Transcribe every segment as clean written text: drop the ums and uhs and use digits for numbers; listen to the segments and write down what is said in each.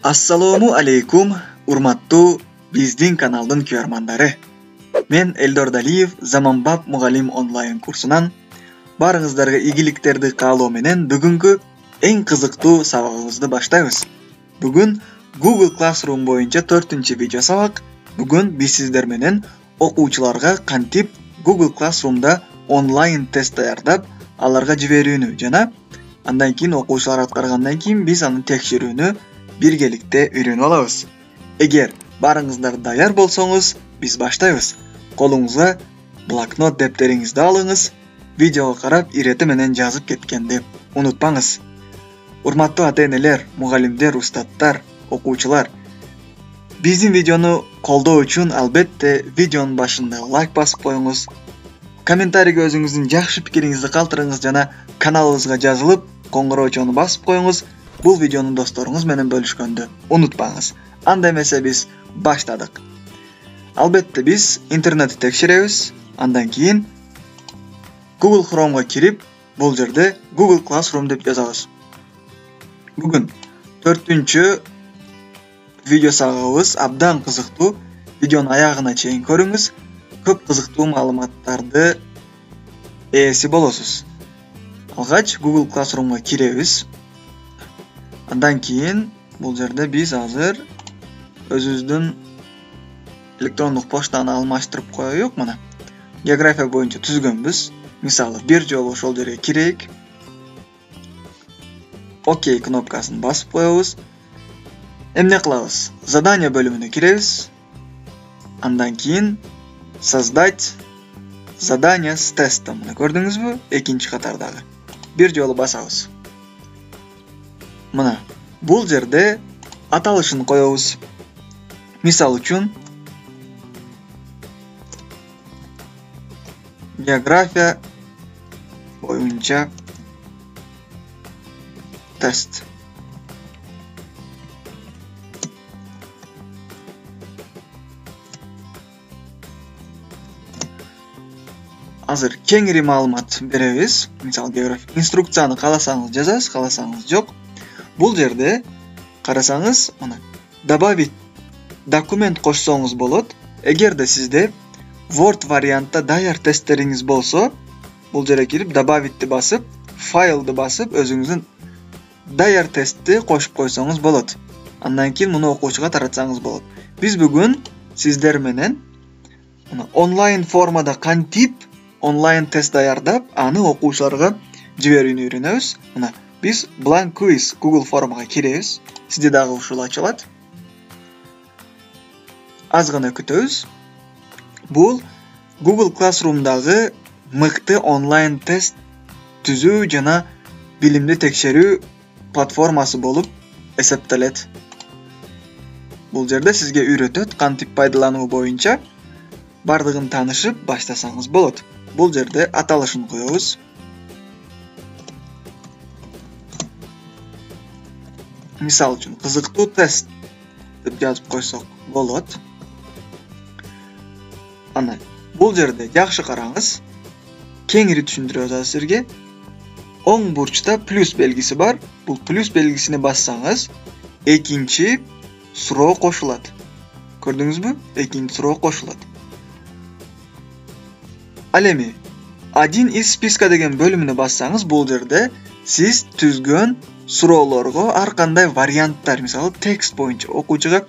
Ассалому алейкум, урматтуу биздин каналдын күйөрмандары. Мен Элдор Далиев, Заманбап мугалим онлайн курсунан баарыңыздарга ийгиликтерди каалоо менен бүгүнкү эң кызыктуу сабагыбызды баштайбыз. Бүгүн Google Classroom боюнча 4-видео сабак. Бүгүн биз сиздер менен окуучуларга кантип Google Classroom'да онлайн тест даярдап, аларга жиберүүнү жана андан кийин окуучулар аткаргандан кийин биз аны текшерүүнү биргеликте үйрөнүп алабыз. Эгер баарыңыздар даяр болсоңуз, биз баштайбыз. Колуңузга блокнот дептериңизди алыңыз. Видеого карап ирети менен жазып кеткенди унутпаңыз. Урматтуу ата-энелер, мугалимдер, устаттар, окуучулар, биздин видеону колдоо үчүн албетте видеонун башында лайк басып коюңуз. Комментарийге өзүңүздүн жакшы пикириңизди калтырыңыз жана каналыбызга жазылып, коңгуроочону басып коюңуз. Бул видеону досторуңуз менен бөлүшкөндү унутпаңыз. Анда эмесе биз баштадык. Албетте биз интернетти текшеребиз. Андан кийин Google Chrome'га кирип, бул жерде Google Classroom деп жазабыз. Бүгүн 4-видео сабагыбыз абдан кызыктуу. Видеонун аягына чейин көрүңүз. Көп кызыктуу маалыматтарды ээси болосуз. Алгач Google Classroom'га киребиз. Андан кийин бул жерде биз азыр өзүбүздүн электрондук поштаны алмаштырып коеюк. Мына география боюнча түзгөнбүз. Мисалы, бир жолу ошол жерге кирейик. Окей кнопкасын басып коебуз. Эмне кылабыз? Задание бөлүмүнө киребиз. Андан кийин создать задание с тестом. Мына көрдүңүзбү? Экинчи катардагы. Бир жолу басабыз. Мына бул жерде аталышын коебуз. Мисал үчүн география боюнча тест. Азыр кеңири маалымат беребиз. Мисалы, география инструкцияны кааласаңыз жазасыз, кааласаңыз жок. Бул жерде карасаңыз, мына добавить документ кошсоңуз болот. Эгерде сизде Word вариантта даяр тесттериңиз болсо, бул жерге кирип добавитти басып, файлды басып, өзүңүздүн даяр тестти кошуп койсоңуз болот. Андан кийин муну окуучуга таратсаңыз болот. Биз бүгүн сиздер менен онлайн формада кантип онлайн тест даярдап, аны окуучуларга жиберүүнү үйрөнөбүз. Мына биз blank quiz Google формага киребиз. Сизде дагы ушул ачылат. Аз гана күтөбүз. Бул Google Classroom'дагы мыкты онлайн тест түзүү жана билимди текшерүү платформасы болуп эсептелет. Бул жерде сизге үйрөтөт кантип пайдалануу боюнча. Бардыгын таанышып баштасаңыз болот. Бул жерде аталышын коебуз. Мисал үчүн кызыктуу тест деп жазып койсок болот. Ана бул жерде жакшы караңыз. Кеңири түшүндүрөбүз азыр сизге. Оң бурчта плюс белгиси бар. Бул плюс белгисине бассаңыз, экинчи суроо кошулат. Көрдүңүзбү? Экинчи суроо кошулат. Ал эми один из списка деген бөлүмүнө бассаңыз, бул жерде сиз түзгөн суроолорго ар кандай варианттар, мисалы, текст боюнча окуучуга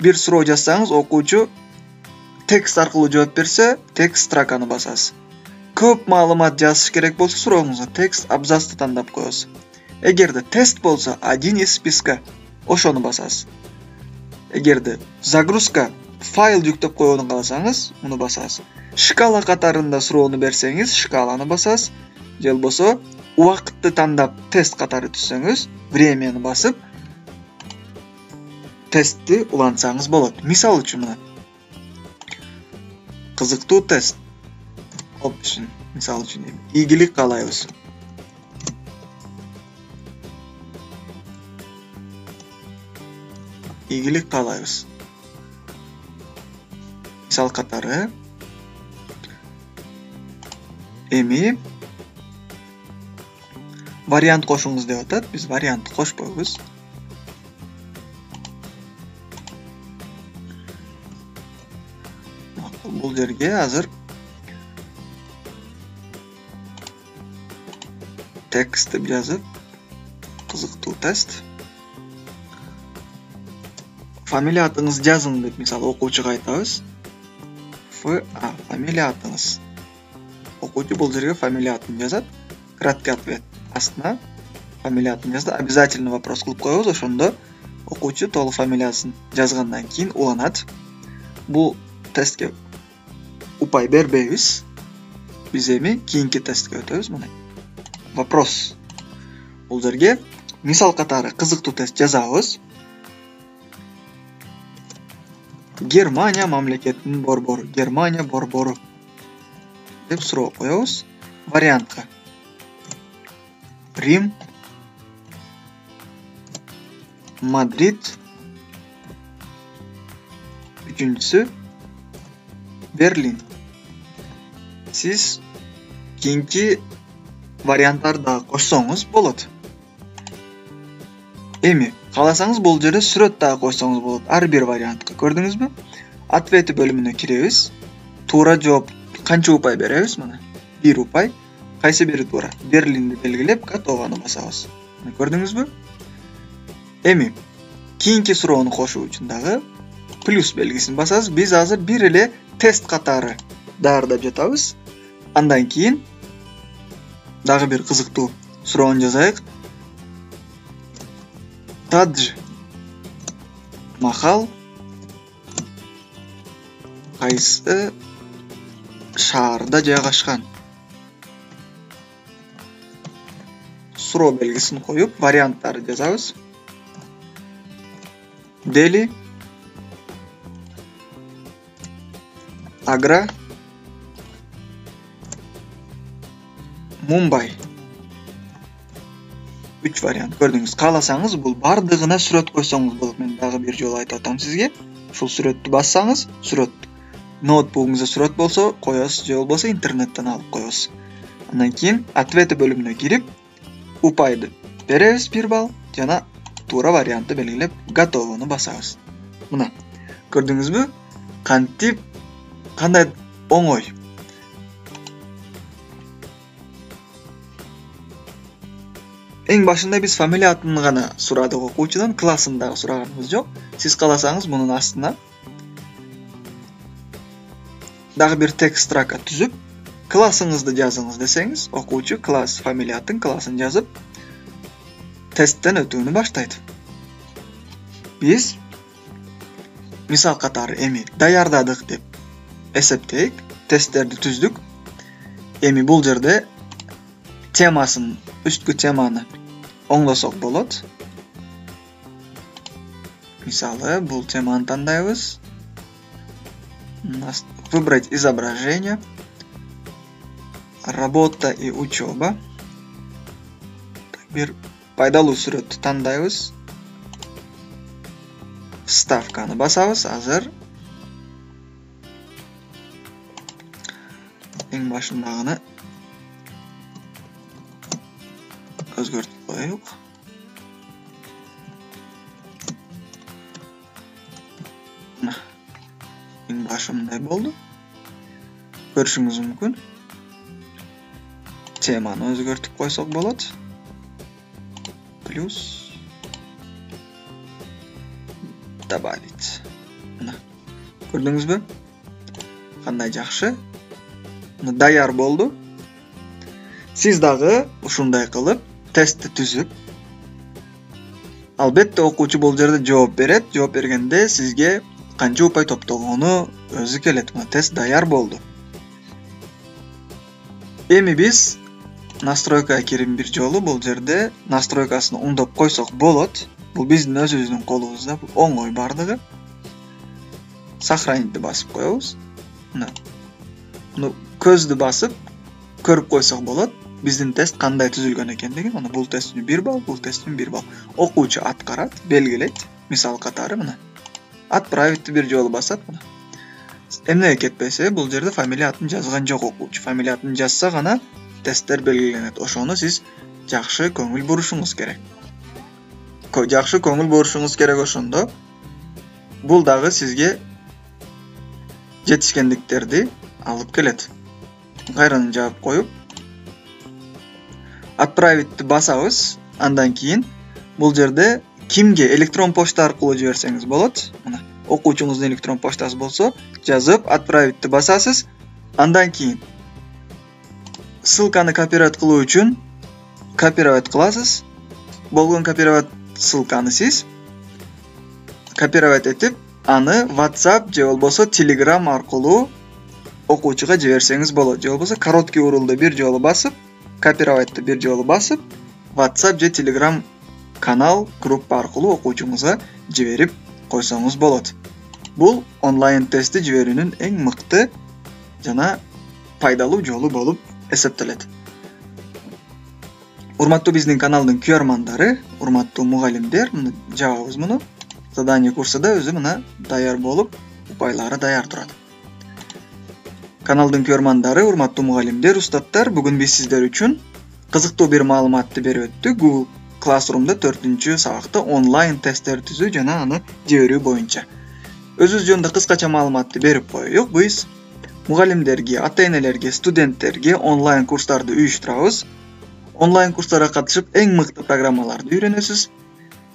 бир суроо жазсаңыз, окуучу текст аркылуу жооп берсе, текст строканы басасыз. Көп маалымат жазыш керек болсо, сурооңузга текст абзацты тандап коесуз. Эгерде тест болсо, один из списка, ошону басасыз. Эгерде загрузка, файл жүктөп коюуну кааласаңыз, муну басасыз. Шкала катарында суроону берсеңиз, шкаланы басасыз. Же болбосо убакытты тандап тест катары түзсөңүз, времяны басып тестти улантсаңыз болот. Мисал үчүн мына кызыктуу тест. Option. Мисал үчүн ийгилик каалайбыз. Ийгилик каалайбыз. Мисал катары эми вариант кошуңуз деп атат. Биз вариант кошпойбуз. бул жерге азыр текст деп жазып, кызыктуу тест. Фамилия атыңыз жазың деп мисалы окуучуга айтабыз. Фамилия атыңыз. Окуучу бул жерге фамилия атын жазат. Краткий ответ астына фамилия атын жазды. Обязательно вопрос кылып коебуз, ошондо окуучу толук фамилиясын жазгандан кийин уланат. Бул тестке упай бербейбиз. Биз эми кийинки тестке өтөбүз. Мына вопрос. Бул жерге мисал катары кызыктуу тест жазабыз. Германия мамлекетинин борбору. Германия борбору деп суроо коебуз. Вариантка Рим, Мадрид, үчүнчүсү Берлин. Сиз кийинки варианттарды кошсоңуз болот. Эми кааласаңыз бул жерде сүрөт дагы койсоңуз болот. Ар бир вариантка көрдүңүзбү? Ответи бөлүмүнө киребиз. Туура жооп канча упай беребиз? Мына 1 упай. Кайсы бири туура? Берлинди белгилеп, готованы басабыз. Мына көрдүңүзбү? Эми кийинки суроону кошуу үчүн дагы плюс белгисин басабыз. Биз азыр бир эле тест катары даярдап жатабыз. Андан кийин дагы бир кызыктуу суроону жазайык. Тадж Махал кайсы шаарда жайгашкан? Суроо белгисин коюп, варианттарды жазабыз. Дели, Агра, Мумбай. 3 вариант көрдүңүз. Кааласаңыз бул бардыгына сүрөт койсоңуз болот. Мен дагы бир жолу айтып атам сизге. Ушул сүрөттү бассаңыз, сүрөт ноутбугуңузда сүрөт болсо коесуз, же болбосо интернеттен алып коесуз. Андан кийин ответи бөлүмүнө кирип, упайды беребиз 1 балл жана туура вариантты белгилеп, готовыны басабыз. Мына көрдүңүзбү? Кантип кандай оңой. Эң башында биз фамилия атын гана сурадык окуучудан, классын дагы сураганыбыз жок. Сиз кааласаңыз мунун астына дагы бир текст строка түзүп, классыңызды жазыңыз десеңиз, окуучу класс фамилия атын, классын жазып, тесттен өтүүнү баштайт. Биз мисал катары эми даярдадык деп эсептейик, тесттерди түздүк. Эми бул жерде темасын, үсткү теманы оңдосок болот. Мисалы, бул теманы тандайбыз. Выбрать изображение. Работа и учеба. Бир пайдалуу сүрөттү тандайбыз. Вставканы басабыз. Азыр эң башындагыны өзгөртүп коелук. Эң башымдай болду. Көрүшүңүз мүмкүн. Теманы өзгөртүп койсок болот. Плюс добавить. Мына көрдүңүзбү? Кандай жакшы. Даяр болду. Сиз дагы ушундай кылып тестти түзүп, албетте окуучу бул жерде жооп берет. Жооп бергенде сизге канча упай топтогону өзү келет. Мына тест даяр болду. Эми биз настройкага кирип бир жолу бул жерде настройкасын оңдоп койсок болот. Бул биздин өзүбүздүн колубузда, бул оңой бардыгы. Сохранитьти басып коебуз. Муну көздү басып көрүп койсок болот. Биздин тест кандай түзүлгөн экендигин. Мына бул тест үчүн 1 балл, бул тест үчүн 1 балл. Окуучу аткарат, белгилейт. Мисал катары мына. Отправить бир жолу басат. Мына. Эмнеге кетпесе, бул жерде фамилия атын жазган жок окуучу. Фамилия атын жазса гана тесттер белгиленет. Ошону сиз жакшы көңүл бурушуңуз керек. Жакшы көңүл бурушуңуз керек ошондо. Бул дагы сизге жетишкендиктерди алып келет. Кайрадан жаап коюп отправитти басабыз. Андан кийин бул жерде кимге электрон почта аркылуу жиберсеңиз болот. Мына окуучуңуздун электрон почтасы болсо, жазып отправитти басасыз. Андан кийин ссылканы копировать кылуу үчүн копировать кыласыз. Болгон копировать ссылканы сиз копировать этип, аны WhatsApp же болбосо Telegram аркылуу окуучуга жиберсеңиз болот. Же болбосо короткий урулду бир жолу басып, копировайтты бир жолу басып, WhatsApp же Telegram канал, группа аркылуу окуучуңузга жиберип койсоңуз болот. Бул онлайн тестти жиберүүнүн эң мыкты жана пайдалуу жолу болуп эсептелет. Урматтуу биздин каналдын күйөрмандары, урматтуу мугалимдер, жабабыз муну. Задание курсы да өзү мына даяр болуп, упайлары даяр турат. Каналдын күйөрмандары, урматтуу мугалимдер, устаттар, бүгүн биз сиздер үчүн кызыктуу бир маалыматты берип өттүк. Google Classroom'да 4-сабакта онлайн тесттер түзүү жана аны жиберүү боюнча. Өзүбүз жөнүндө кыскача маалыматты берип коеюк. Биз мугалимдерге, ата-энелерге, студенттерге онлайн курстарды уюштурабыз. Онлайн курстарга катышып, эң мыкты программаларды үйрөнөсүз.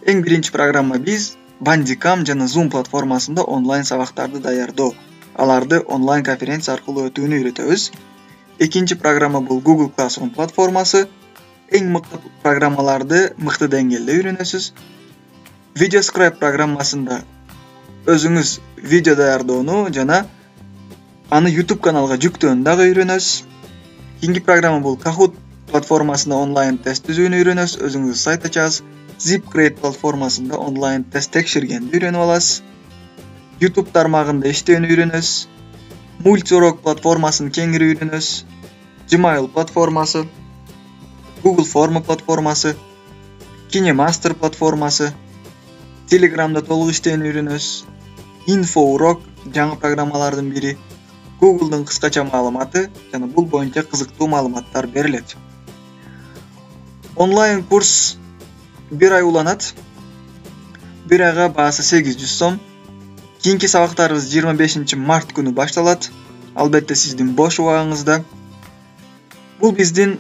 Эң биринчи программа биз Bandicam жана Zoom платформасында онлайн сабактарды даярдоо, аларды онлайн конференция аркылуу өтүүнү үйрөтөбүз. Экинчи программа бул Google Classroom платформасы. Эң мыкты программаларды мыкты деңгээлде үйрөнөсүз. VideoScribe программасында өзүңүз видео даярдоону жана аны YouTube каналга жүктөөнү дагы үйрөнөсүз. Кийинки программа бул Kahoot платформасында онлайн тест түзүүнү үйрөнөсүз, өзүңүз сайт ачасыз. ZipGrade платформасында онлайн тест текшергенди үйрөнүп аласыз. YouTube тармагында иштөөнү үйрөнөсүз. Multiurok платформасын кеңири үйрөнөсүз. Gmail платформасы, Google Form платформасы, KineMaster платформасы, Telegramда толук иштөөнү үйрөнөсүз. InfoUrok жаңы программалардын бири, Google'дун кыскача маалыматы жана бул боюнча кызыктуу маалыматтар берилет. Онлайн курс 1 ай уланат. 1 айга баасы 800 сом. Кийинки сабактарыбыз 25 март күнү башталат. Албетте сиздин бош убагыңызда. Бул биздин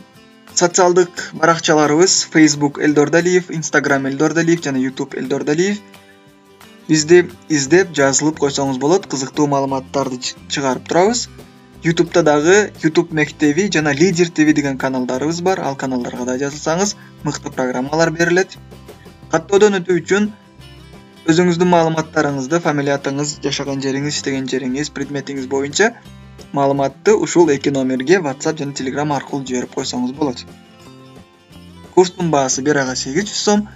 социалдык баракчаларыбыз Facebook Элдордалиев, Instagram Элдордалиев жана YouTube Элдордалиев. Бизди издеп, жазылып койсоңуз болот. Кызыктуу маалыматтарды чыгарып турабыз. YouTube'да дагы YouTube мектеби жана Leader TV деген каналдарыбыз бар. Ал каналдарга да жазылсаңыз, мыкты программалар берилет. Каттоодон өтүү үчүн өзүңүздүн маалыматтарыңызды, фамилиятыңыз, жашаган жериңиз, иштеген жериңиз, предметиңиз боюнча маалыматты ушул 2 номерге WhatsApp жана Telegram аркылуу жиберип койсоңуз болот. Курстун баасы 1 айга 800 сом.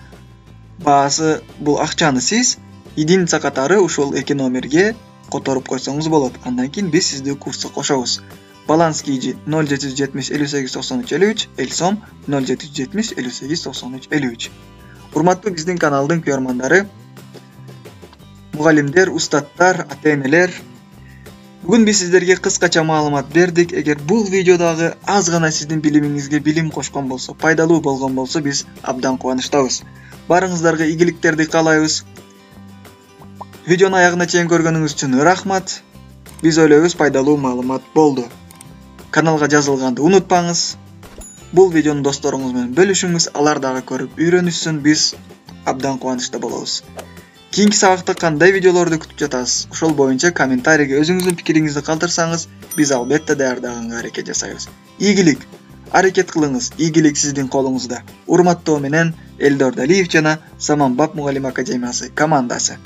Баасы бул акчаны сиз единица катары ушул 2 номерге которуп койсоңуз болот. Андан кийин биз сизди курска кошобуз. Баланс кийжи 0770 58 93 53, эл сом 0770 58 93 53. Урматтуу биздин каналдын күйөрмандары, мугалимдер, устаттар, ата-энелер, бүгүн биз сиздерге кыскача маалымат бердик. Эгер бул видеодагы аз гана сиздин билимиңизге билим кошкон болсо, пайдалуу болгон болсо, биз абдан кубанычтабыз. Барыңыздарга ийгиликтерди каалайбыз. Видеону аягына чейин көргөнүңүз үчүн рахмат. Биз ойлойбуз пайдалуу маалымат болду. Каналга жазылганды унутпаңыз. Бул видеону досторуңуз менен бөлүшүңүз, алар дагы көрүп үйрөнүшсүн. Биз абдан кубанычта болобуз. Кийинки сабакта кандай видеолорду күтүп жатасыз? Ошол боюнча комментарийге өзүңүздүн пикириңизди калтырсаңыз, биз албетте даярдаганга аракет жасайбыз. Ийгилик, аракет кылыңыз. Ийгилик сиздин колуңузда. Урматтоо менен Элдордалиев жана Заманбап мугалим академиясы командасы.